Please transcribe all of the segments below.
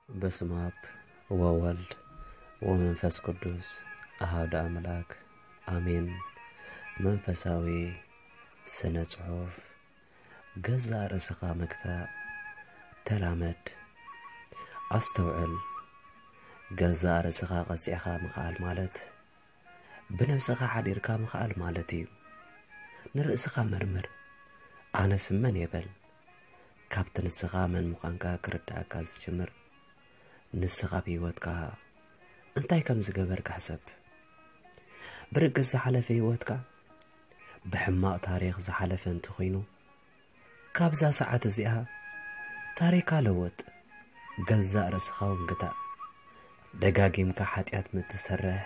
በስመ አብ ወወልድ ወመንፈስ ቅዱስ አሐዱ አምላክ አሜን። መንፈሳዊ ስነ ጽሑፍ። ገዛእ ርእስኻ ምግታእ ተላመድ። ኣስተውዕል። ገዛእ ርእስኻ ቀጺዕኻ ምኽኣል ማለት ብነብስኻ ሓዲርካ ምኽኣል ማለት እዩ። ንርእስኻ መርምር። ኣነስ መን እየ በል። ካብቲ ንስኻ መን ምዃንካ ክርድኣካ ዝጅምር ንስኻ ኣብ ህይወትካ እንታይ ከም ዝገበርካ ሕሰብ። ብርግጽ ዝሓለፈ ህይወትካ ብሕማቕ ታሪኽ ዝሓለፈ እንተኾይኑ፣ ካብዛ ሰዓት እዚኣ ታሪኻ ለውጥ፣ ገዛእ ርእስኻ እውን ግታእ። ደጋጊምካ ሓጢኣት ምትሰርሕ፣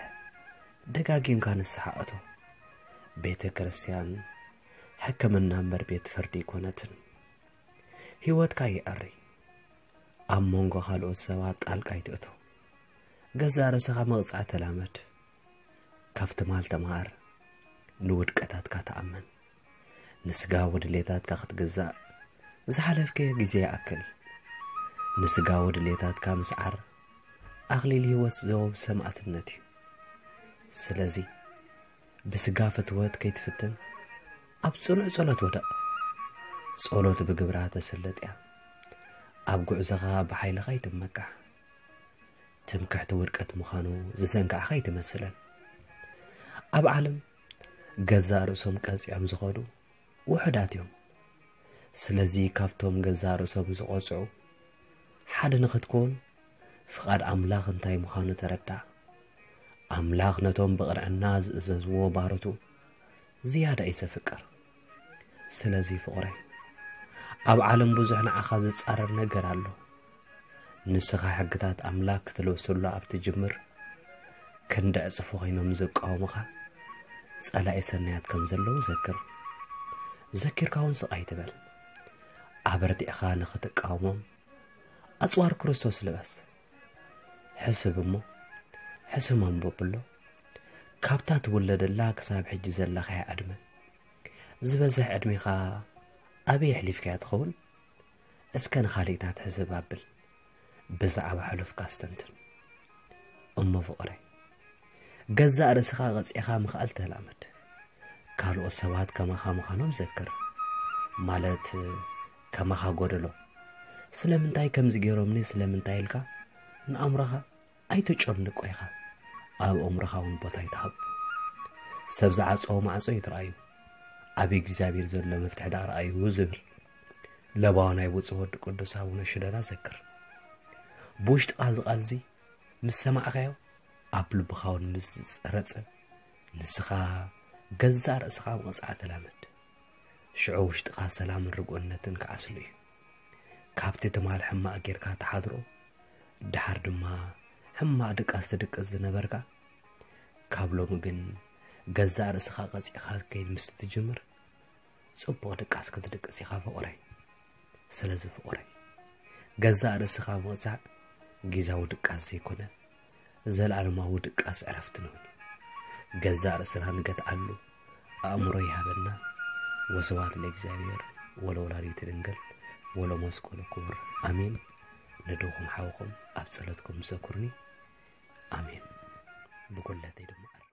ደጋጊምካ ንስሓ እቶ። ቤተ ክርስቲያን ሕክምና እምበር ቤት ፍርዲ ኣይኮነትን። ህይወትካ ይኣሪ። ኣብ መንጎ ካልኦት ሰባት ጣልቃ ኣይትእቶ። ገዛእ ርእስኻ ምቕጻዕ ተላመድ። ካብ ትማል ተመሃር። ንውድቀታትካ ተኣመን። ንስጋዊ ድሌታትካ ክትግዛእ ዝሓለፍከዮ ግዜ ይኣክል። ንስጋዊ ድሌታትካ ምስዓር ኣኽሊል ህይወት ዘወብ ሰማእትነት እዩ። ስለዚ ብስጋ ፍትወት ከይትፍትን ኣብ ጽኑዕ ጸሎት ወደቕ። ጸሎት ብግብራ ተሰለጥ እያ። ኣብ ጉዕዞኻ ብሓይልኻ ኣይትመካሕ። ትምክሕቲ ውድቀት ምዃኑ ዝዘንጋዕኻ ኣይትመስለን። ኣብ ዓለም ገዛእ ርእሶም ቀጺዖም ዝኸዱ ውሑዳት እዮም። ስለዚ ካብቶም ገዛእ ርእሶም ዝቐጽዑ ሓደ ንኽትከውን ፍቓድ ኣምላኽ እንታይ ምዃኑ ተረዳእ። ኣምላኽ ነቶም ብቕንዕና ዝእዘዝዎ ባሮቱ ዝያዳ እዩ ዘፍቅር። ስለዚ ፍቕረይ፣ ኣብ ዓለም ብዙሕ ንዓኻ ዝጻረር ነገር ኣሎ። ንስኻ ሕግታት ኣምላኽ ክትለብሰሉ ኣብ ትጅምር፣ ክንዲ ዕጽፊ ኮይኖም ዝቃወሙኻ ጸላኢ ሰናያት ከም ዘለዉ ዘክር። ዘኪርካ እውን ስቕ ኣይትበል። ኣበርቲዕኻ ንኽትቃወሞም ኣጽዋር ክርስቶስ ልበስ። ሕስብ እሞ፣ ሕስም ኣንብብ ኣሎ። ካብታ ትውለደላ ክሳብ ሕጂ ዘለኻያ ዕድመ፣ ዝበዝሕ ዕድሜኻ ኣበይ ኣሕሊፍካያ ትኸውን? እስከ ንኻልእታት ሕስብ ኣብል። ብዛዕባ ሕሉፍካ ኣስተንትን። እሞ ፍቕረይ፣ ገዛእ ርእስኻ ቀጺዕኻ ምኽኣል ተላመድ። ካልኦት ሰባት ከማኻ ምዃኖም ዘክር። ማለት ከማኻ ጎደሎ። ስለምንታይ ከምዚ ገይሮምኒ ስለምንታይ ኢልካ ንኣእምሮኻ ኣይተጨንቆ ኢኻ። ኣብ ኣእምሮኻ እውን ቦታ ኣይትሃብ። ሰብ ዝዓጸዎ ማዕጾ ይትረኣዩ፣ ኣብ እግዚኣብሔር ዘሎ መፍትሒ ደኣ ረኣዩ ዝብል ለባዊ ናይ ብፁዕ ወዲ ቅዱስ ኣቡነ ሽደዳ ዘክር። ብውሽጥኻ እዚ ቃል እዚ ምስ ሰማዕካዮ ኣብ ልብኻ እውን ምስ ዝጸረጸ ንስኻ ገዛእ ርእስኻ ምቕጻዕ ተላመድ። ሽዑ ውሽጥኻ ሰላምን ርጉእነትን ክዓስሉ እዩ። ካብቲ ትማል ሕማቕ ጌርካ ትሓድሮ፣ ደሓር ድማ ሕማቕ ድቃስ ትድቅስ ዝነበርካ፣ ካብ ሎሚ ግን ገዛእ ርእስኻ ቀጺዕካ ክትከይድ ምስ ትጅምር፣ ጽቡቕ ድቃስ ክትድቅስ ኢኻ ፍቑረይ። ስለዚ ፍቑረይ፣ ገዛእ ርእስኻ ምቕጻዕ ጊዛዊ ድቃስ ዘይኮነ፣ ዘለኣለማዊ ድቃስ ዕረፍቲ ንኹን። ገዛእ ርእስና ንገትኣሉ ኣእምሮ ይሃበና። ወስብሐት ለእግዚኣብሔር ወለወላዲቱ ድንግል ወለመስቀሉ ክቡር። ኣሜን። ንድኹም ሓውኹም ኣብ ጸሎትኩም ዘኩርኒ። ኣሜን። ብጉለተይ ድማ